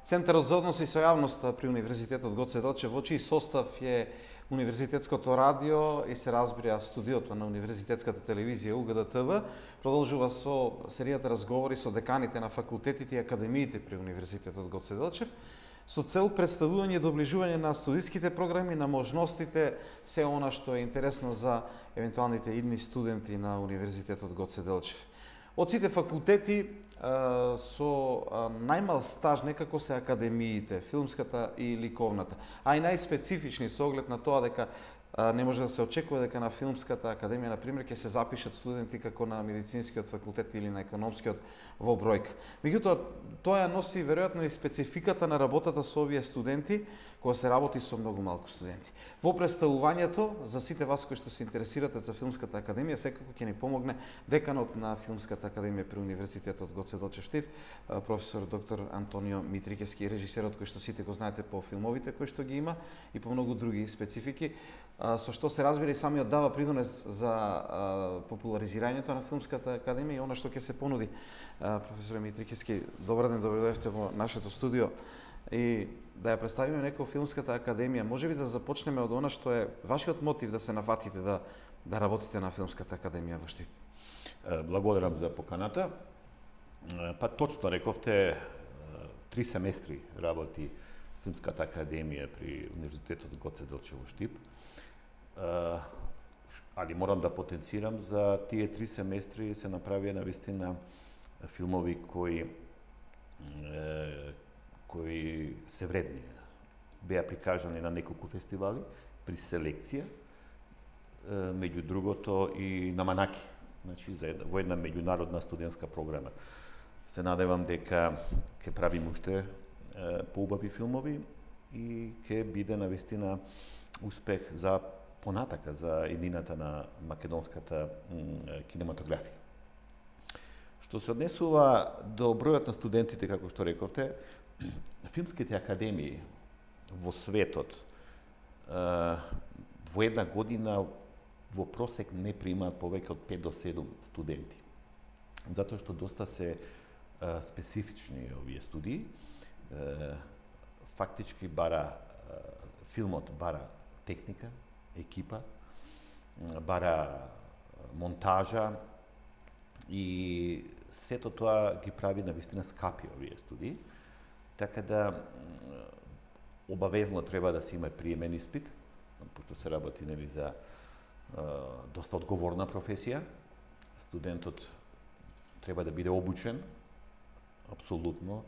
Центарот за односи со јавноста при Универзитетот Гоце Делчев, во чиј состав е Универзитетското радио и се разбира студиото на Универзитетската телевизија УГДТВ, продолжува со серијата разговори со деканите на факултетите и академиите при Универзитетот Гоце Делчев, со цел представување и доближување на студиските програми, на можностите, се она што е интересно за евентуалните идни студенти на Универзитетот Гоце Делчев. Од сите факултети со најмал стаж некако се академиите, филмската и ликовната, а и најспецифични со оглед на тоа дека не може да се очекува дека на филмската академија, на пример, ќе се запишат студенти како на медицинскиот факултет или на економскиот во бројка. Меѓутоа, тоа носи веројатно и спецификата на работата со овие студенти, кога се работи со многу малку студенти. Во представувањето, за сите вас кои што се интересирате за Филмската академија, секако ќе ни помогне деканот на Филмската академија при Универзитетот Гоце Делчев Штип, професор доктор Антонио Митрикевски, режисерот кој што сите го знаете по филмовите кои што ги има и по многу други специфики, со што се разбира и самиот дава придонес за популаризирањето на Филмската академија и она што ќе се понуди. Професор Митрикевски, добар ден, добре дојдовте во нашето студио. И да ја представиме некој Филмската академија, може би да започнеме од она што е вашиот мотив да се нафатите да работите на Филмската академија во Штип. Благодарам за поканата. Па точно рековте, 3 семестри работи Филмската академија при Универзитетот Гоце Делчев во Штип. Али морам да потенцирам, за тие 3 семестри се направија навистина филмови кои се вредни. Беа прикажани на неколку фестивали при селекција, меѓу другото и на Манаки, значи во една меѓународна студентска програма. Се надевам дека ќе правиме уште поубави филмови и ќе биде навистина успех за понатака за едината на македонската кинематографија. Што се однесува до бројот на студентите, како што рековте, филмските академии во светот во една година во просек не примаат повеќе од 5 до 7 студенти. Затоа што доста се специфични овие студии. Фактички филмот бара техника, екипа, бара монтажа и сето тоа ги прави навистина скапи овие студии. Така да обавезно треба да се има приемен испит, пошто се работи за доста одговорна професија. Студентот треба да биде обучен, апсолутно,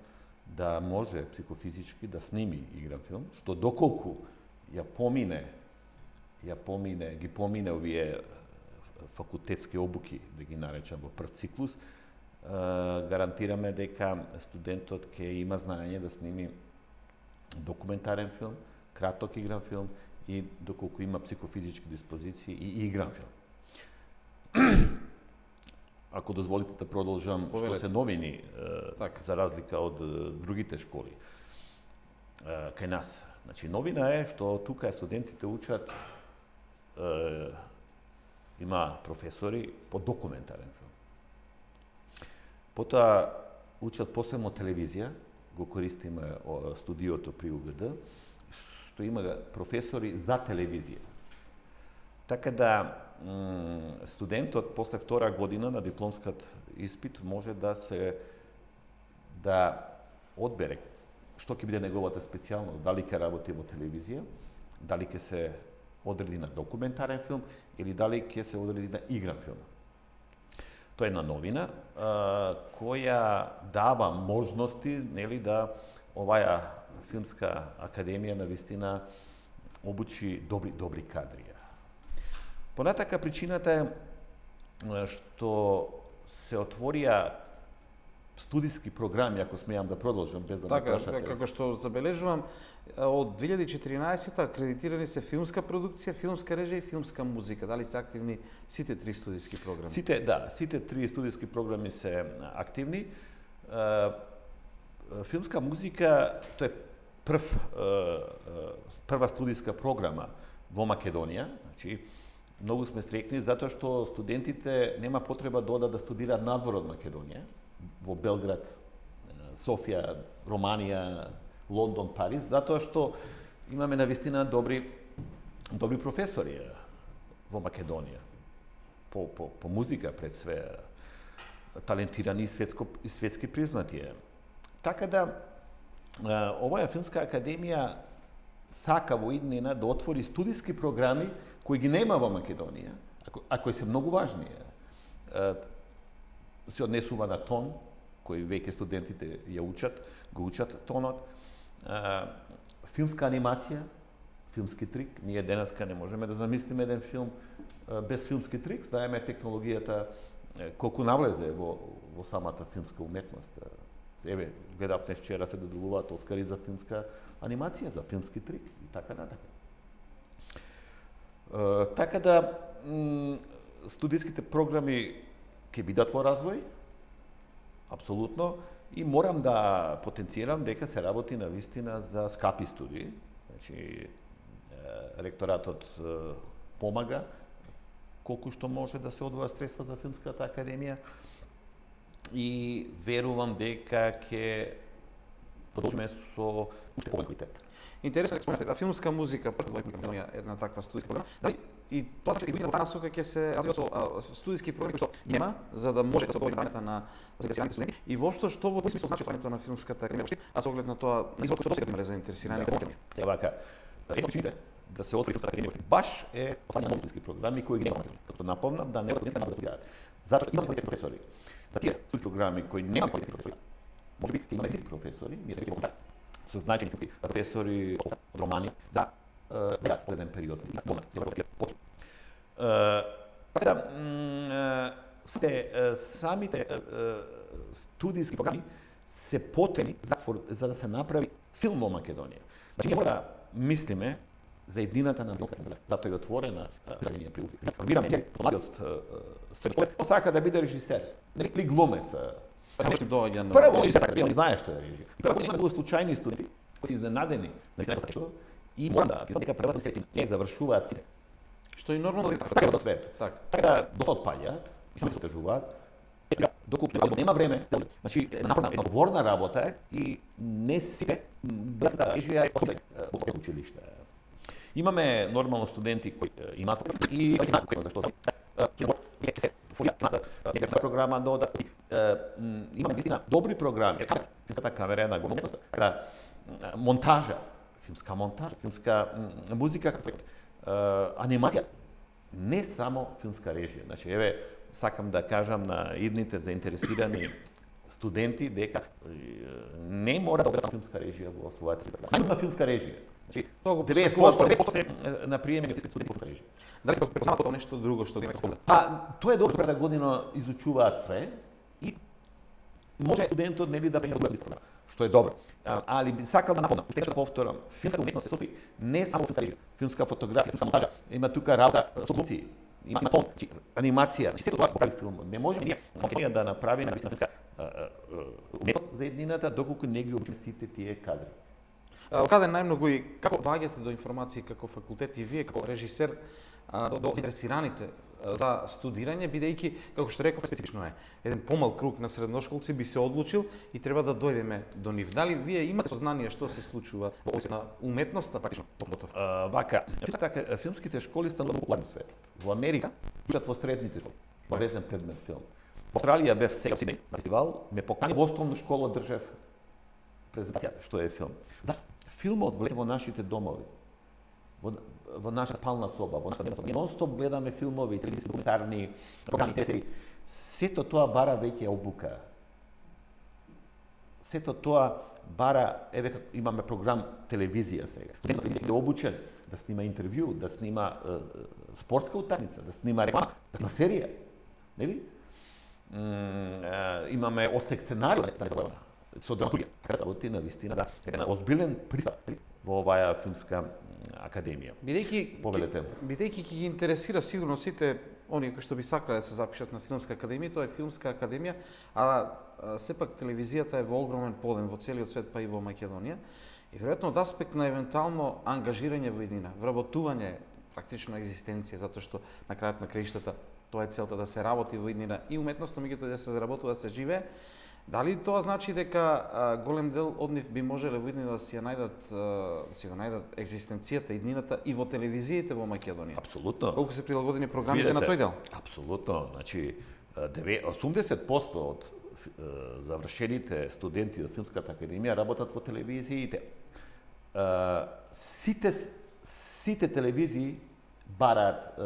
да може психофизички да сними игран филм, што доколку ги помине овие факултетски обуки, да ги наречам во прв циклус, гарантираме дека студентот ќе има знаење да сними документарен филм, краток игран филм и доколку има психофизички диспозиции и игран филм. Ако дозволите да продолжам, што се новини, за разлика од другите школи кај нас. Значи, новина е што тука студентите учат, има професори по документарен филм. Потоа учат посебно телевизија, го користиме студиото при УГД, што има професори за телевизија. Така да студентот после втора година на дипломскиот испит може да одбере што ќе биде неговата специјалност, дали ќе работи во телевизија, дали ќе се одреди на документарен филм или дали ќе се одреди на игран филм. Тоа е една новина која дава можности, нели, да оваа филмска академија навистина обучи добри кадри. Понатака причината е што се отворија студиски програми, ако смеам да продолжам без да ме прашате. Така, како што забележувам, од 2014 акредитирани се филмска продукција, филмска режија и филмска музика. Дали се активни сите 3 студиски програми? Сите 3 студиски програми се активни. Филмска музика, тоа е прва студиска програма во Македонија. Значи, многу сме среќни затоа што студентите нема потреба да одат да студираат надвор од Македонија, во Белград, Софија, Романија Лондон, Париз, затоа што имаме навистина добри професори во Македонија. По музика пред све, талентирани и светски признати. Така да, оваа филмска академија сака во иднина да отвори студиски програми кои ги нема во Македонија, а кои се многу важни. Се однесува на тон, кои веќе студентите го учат тонот, филмска анимација, филмски трик. Ние денеска не можеме да замислиме еден филм без филмски трик, знаеме технологијата колку навлезе во самата филмска уметност. Еве, гледав вчера се доделуваат Оскари за филмска анимација, за филмски трик и така натака. Така да, студиските програми ќе бидат во развој, апсолутно, и морам да потенцирам дека се работи на вистина за скапи студии. Значи, ректоратот помага колку што може да се одвоја средства за филмската академија и верувам дека ќе продолжиме со уште поголем квалитет. Интересно е филмска музика, Македонија една таква студиска програма. Дали и тоа значи и година во таа насока ќе се развива со студиски програми што нема, за да може да се одговори на заинтересираните студенти и воопшто што во смисла значи отварањето на филмската академија, а со оглед на тоа извод што досега имале заинтересирани академија. Сега вака, едно причините да се отвори филмската академија баш е отварање на филмски програми кои ги нема. Како напомнам да не студентите да студираат. Затоа имаме квалитетни професори. За тие филмски програми кои нема квалитетни професори, можеби ќе имаме език професори, ние ќе имаме со значени филмски професори од Романија за одреден период. Така да, самите студиски програми се потребни за да се направи филм во Македонија. Значи, ние мора да мислиме за едината на Македонија. Затоа е отворена академија при УФИ. Пробираме младиот средношколец, сака да биде режисер, или глумец. Прво, не знае што е режија. Прво, има многу случајни студенти кои се изненадени на истина и морам да кажам дека првата среќа не завршуваат сите. Што е нормално така во свет. Така да доста отпаѓаат и само се откажуваат. Доколку нема време, значи една одговорна работа и не сите да режија во училиште. Имаме нормално студенти кои имаат и кои зашто ќе се фолијат некаква програма да одат. Имаме вистина добри програми. Филмската камера е на големост. Монтажа, филмска музика, анимација. Не само филмска режија. Значи, еве, сакам да кажам на идните заинтересирани студенти дека не мора да одат филмска режија во својата програма. Има филмска режија. Значи, 90% се на приемени студенти по режија. Дали се препознава тоа нешто друго што ги има? Тоа е добро, прва година изучуваат све и може студентот нели да приема добра програма, што е добро. Али би сакал да напомнам, уште да повторам, филмска уметност се состои не само филмска режија, филмска фотографија, филмска монтажа, има тука работа со глумци, има тон, анимација, сето тоа го прави филм. Не можеме ние Македонија да направиме на филмска уметност за еднината доколку не ги обучиме сите тие кадри. Каде најмногу и како доаѓате до информации како факултет и вие како режисер до заинтересираните за студирање, бидејќи, како што реков, специфично е. Еден помал круг на средношколци би се одлучил и треба да дојдеме до нив. Дали вие имате сознание што се случува во област на уметноста, практично подготовка? Вака, филмските школи стануваат популарни во светот. Во Америка учат во средните школи, обавезен предмет филм. Во Австралија бев сега во Сиднеј на фестивал, ме покани во основна школа држев презентација што е филм. Филмот влезе во нашите домови. Во наша спална соба, во наша дневна соба. Нон-стоп гледаме филмови, телевизиски документарни програми, телесери. Сето тоа бара веќе обука. Сето тоа бара, еве имаме програм телевизија сега. Телевизија е обучен да снима интервју, да снима спортска утакмица, да снима реклама, да снима серија. Нели? Имаме одсек сценарио со драматургија. Така работи на вистина да еден озбилен пристап во оваа филмска академија. Бидејќи ќе ги интересира сигурно сите оние кои што би сакале да се запишат на филмска академија, тоа е филмска академија, а сепак телевизијата е во огромен подем во целиот свет, па и во Македонија. И веројатно од аспект на евентуално ангажирање во еднина, вработување, практично екзистенција, затоа што на крајот на краиштата тоа е целта да се работи во еднина и уметноста, меѓутоа да се заработува, да се живее. Дали тоа значи дека голем дел од нив би можеле во иднина да си ја најдат екзистенцијата, иднината и во телевизиите во Македонија? Апсолутно. Колку се прилагодени програмите на тој дел? Апсолутно. Значи, 80% од завршените студенти од Филмската академија работат во телевизиите. Сите телевизии бараат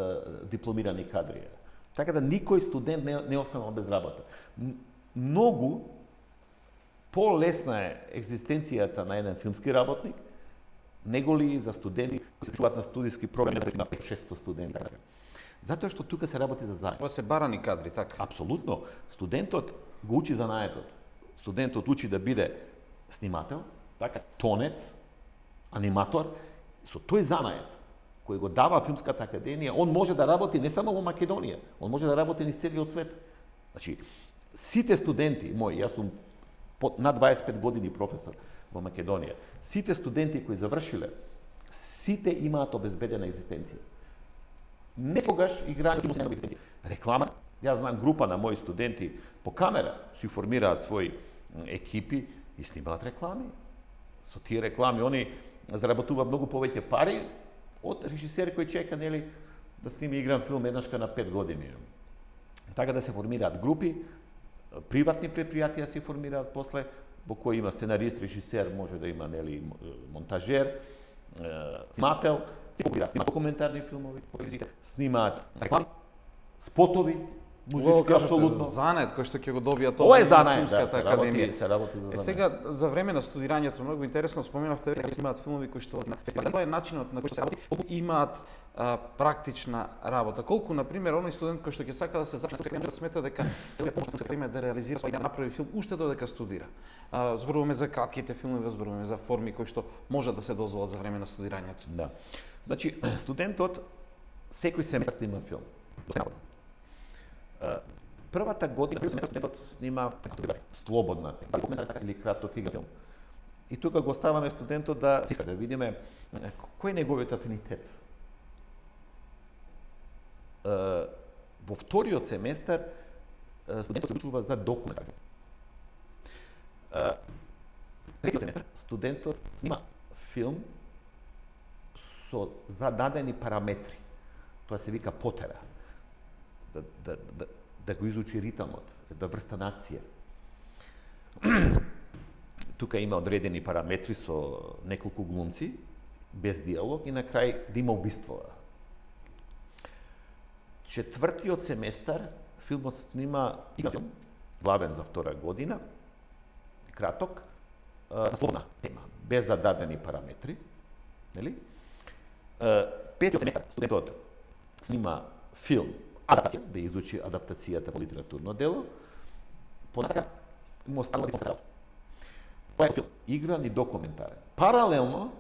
дипломирани кадри. Така да никој студент не останал без работа. Многу по-лесна е екзистенцијата на еден филмски работник, неголи за студенти кои се чуваат на студиски програми на 500-600 студенти. Затоа што тука се работи за заедно. Ова се барани кадри, така? Апсолутно. Студентот го учи занаетот. Студентот учи да биде снимател, така, тонец, аниматор, со тој занает кој го дава Филмската академија, он може да работи не само во Македонија, он може да работи низ целиот свет. Значи, сите студенти мои, јас сум над 25 години професор во Македонија, сите студенти кои завршиле, сите имаат обезбедена екзистенција. Не тогаш играње на екзистенција. Реклама, јас знам група на мои студенти по камера си формираат своји екипи и снимаат реклами. Со тие реклами они заработуваат многу повеќе пари од режисер кој чека, нели, да сними игран филм еднашка на 5 години. Така да се формираат групи, приватни предпријатија се формираат после, во кои има сценарист, режисер, може да има, нели, монтажер, снимател, снимаат документарни филмови, снимаат реклами, спотови, музички, апсолутно. Занет кој што ќе го добија тоа Ова е занет, Филмската академија. се работи за занет. Сега за време на студирањето многу интересно споменавте дека снимаат филмови кои што на фестивалот е начинот на кој што се работи, колку имаат практична работа. Колку на пример оној студент кој што ќе сака да се запишне не може да смета дека е помошна да реализира свој да направи филм уште додека студира. Зборуваме за кратките филмови, зборуваме за форми кои што може да се дозволат за време на студирањето. Да. Значи студентот секој семестар снима филм. Првата година студентот снима слободна или краток игра филм. И тука го оставаме студентот да видиме кој е неговиот афинитет. Во вториот семестар студентот се учува за документарен. Третиот семестар студентот снима филм со зададени параметри. Тоа се вика потера. Да го изучи ритмот, да врста на акција. Тука има одредени параметри со неколку глумци, без диалог и на крај да има убиство. Четвртиот семестар филмот снима игра филм, главен за втора година, краток, на слободна тема, без зададени параметри, нели? Петиот семестар студентот снима филм, адаптација, да изучи адаптацијата по литературно дело, понатака му останува да тоа е филм, игран и документарен. Паралелно,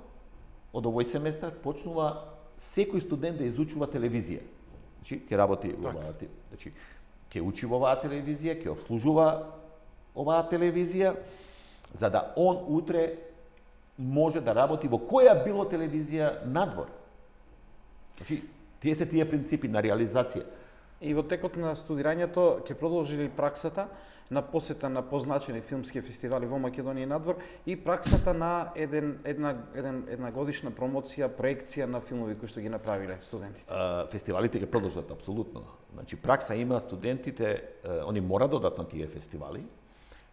од овој семестар почнува секој студент да изучува телевизија. Значи, ќе работи во оваа, значи, ќе учи во оваа телевизија, ќе обслужува оваа телевизија, за да он утре може да работи во која било телевизија надвор. Значи, тие се тие принципи на реализација. И во текот на студирањето ќе продолжи ли праксата на посета на позначени филмски фестивали во Македонија и надвор и праксата на една годишна промоција, проекција на филмови кои што ги направиле студентите? Фестивалите ќе продолжат апсолутно. Значи пракса има студентите, они мора да одат на тие фестивали,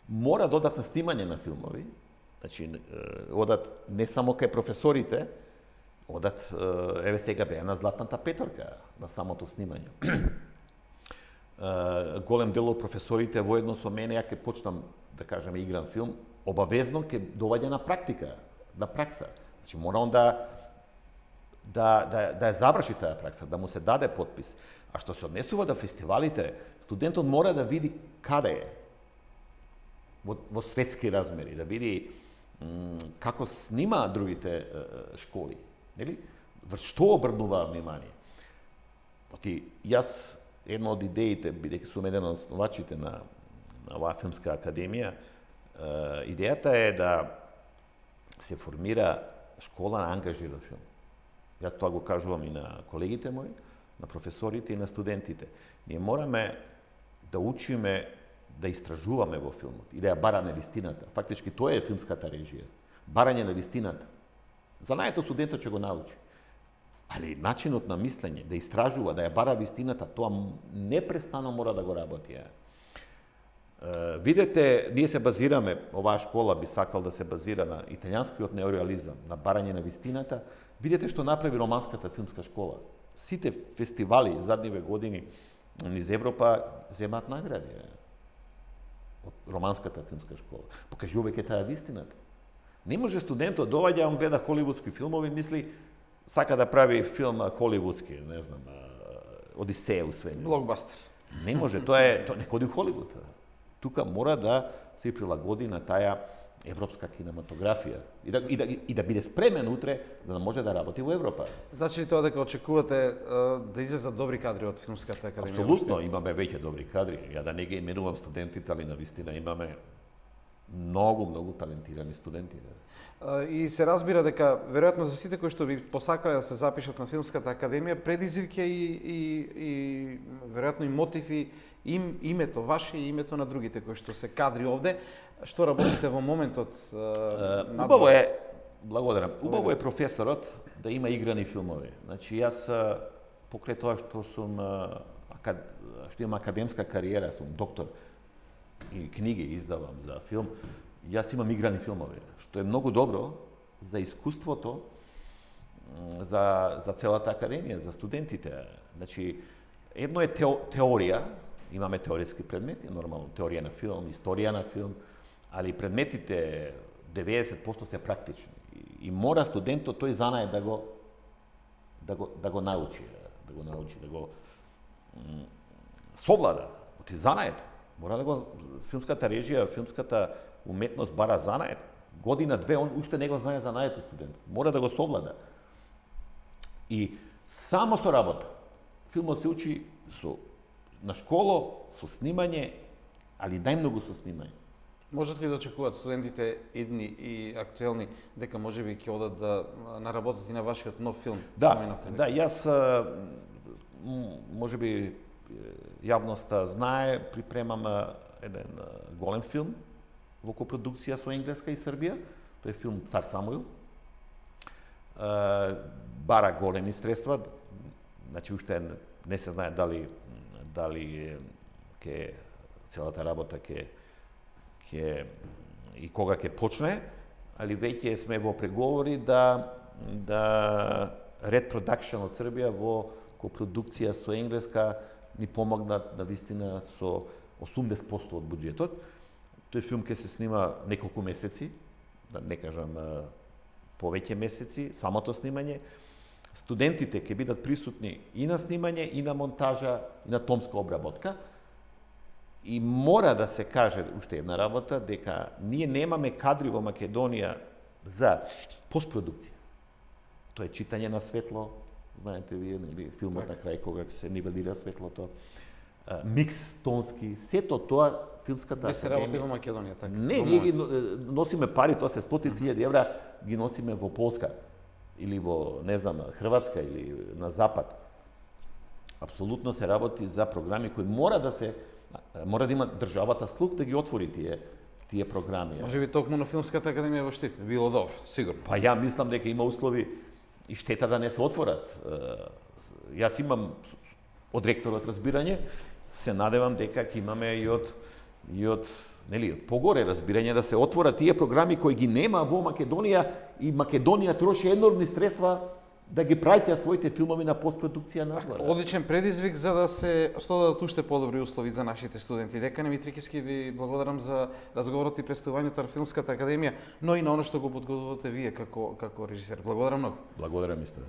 мора да одат на снимање на филмови. Значи одат не само кај професорите, одат еве сега беа на Златната петорка на самото снимање. Голем дел од професорите воедно со мене, ја ќе почнам да кажеме игран филм, обавезно ќе доаѓа на практика, на пракса. Значи мора он да ја заврши таа пракса, да му се даде подпис. А што се однесува до фестивалите, студентот мора да види каде е во светски размери, да види како снима другите школи, нели? Врз што обрнуваат внимание. Оти јас една од идеите, бидејќи сум еден од основачите на оваа филмска академија, идејата е да се формира школа на ангажиран филм. Јас тоа го кажувам и на колегите мои, на професорите и на студентите. Ние мораме да учиме да истражуваме во филмот и да ја бараме вистината. Фактички тоа е филмската режија. Барање на вистината. Знанието студентот ќе го научи. Али начинот на мислење, да истражува, да ја бара вистината, тоа непрестано мора да го работи. Видете, ние се базираме, оваа школа би сакал да се базира на италијанскиот неореализам, на барање на вистината. Видете што направи романската филмска школа. Сите фестивали задниве години низ Европа земаат награди од романската филмска школа, покажувајќи таа вистината. Не може студентот доаѓа, он гледа холивудски филмови, мисли сака да прави филм холивудски, не знам, Одисеја у свемир. Блокбастер. Не може, тоа не ходи у Холивуд. Тука мора да се прилагоди на таа европска кинематографија и да биде спремен утре да може да работи во Европа. Значи ли тоа дека очекувате да излезат добри кадри од филмската академија? Апсолутно, имаме веќе добри кадри. Ја да не ги именувам студентите, али навистина имаме многу талентирани студенти. И се разбира дека веројатно за сите кои што би посакале да се запишат на филмската академија, предизвик е и веројатно и мотив и името ваше и името на другите кои што се кадри овде. Што работите во моментот? Убаво е, благодарам. Убаво е професорот да има играни филмови. Значи јас покрај тоа што сум што имам академска кариера, сум доктор и книги издавам за филм, јас имам играни филмови, што е многу добро за искуството, за целата академија, за студентите. Значи, едно е теорија, имаме теоретски предмети, нормално теорија на филм, историја на филм, али предметите 90% се практични. И мора студентот тој знае да го научи, да го совлада. Оти знаете. Мора да го филмската режија, филмската уметност бара знаете. Година, две, он уште не го знае знаете студент. Мора да го совлада. И само со работа. Филмот се учи на школо, со снимање, али најмногу со снимање. Можат ли да очекуваат студентите идни и актуелни дека можеби ќе одат да наработат и на вашиот нов филм? Да, јас можеби јавноста знае, припремам еден голем филм во копродукција со Енглеска и Србија. Тој е филм Цар Самуил. Бара големи средства, значи уште не се знае дали ќе целата работа ќе и кога ќе почне, али веќе сме во преговори да Red Production од Србија во копродукција со Енглеска ни помогнат на вистина со 80% од буџетот. Тој филм ќе се снима неколку месеци, да не кажам повеќе месеци, самото снимање. Студентите ќе бидат присутни и на снимање, и на монтажа, и на томска обработка. И мора да се каже уште една работа, дека ние немаме кадри во Македонија за постпродукција. Тоа е читање на светло, знаете вие, нели, филмот на крај кога се нивелира светлото, микс тонски, сето тоа филмската академија. Не се работи во Македонија, така? Не, ние ги носиме пари, тоа се стотици илјади евра, ги носиме во Полска или во, не знам, Хрватска или на Запад. Апсолутно се работи за програми кои мора да има државата слух да ги отвори тие програми. Може би токму на Филмската академија во Штип било добро, сигурно. Па ја мислам дека има услови и штета да не се отворат. Јас имам од ректорот разбирање, се надевам дека ќе имаме и од погоре разбирање да се отворат тие програми кои ги нема во Македонија и Македонија троши енормни средства да ги праќа своите филмови на постпродукција надвор. Одличен предизвик за да се создадат уште подобри услови за нашите студенти. Декане Митрикиски, ви благодарам за разговорот и представувањето на Филмската академија, но и на оно што го подготвувате вие како режисер. Благодарам многу. Благодарам исто.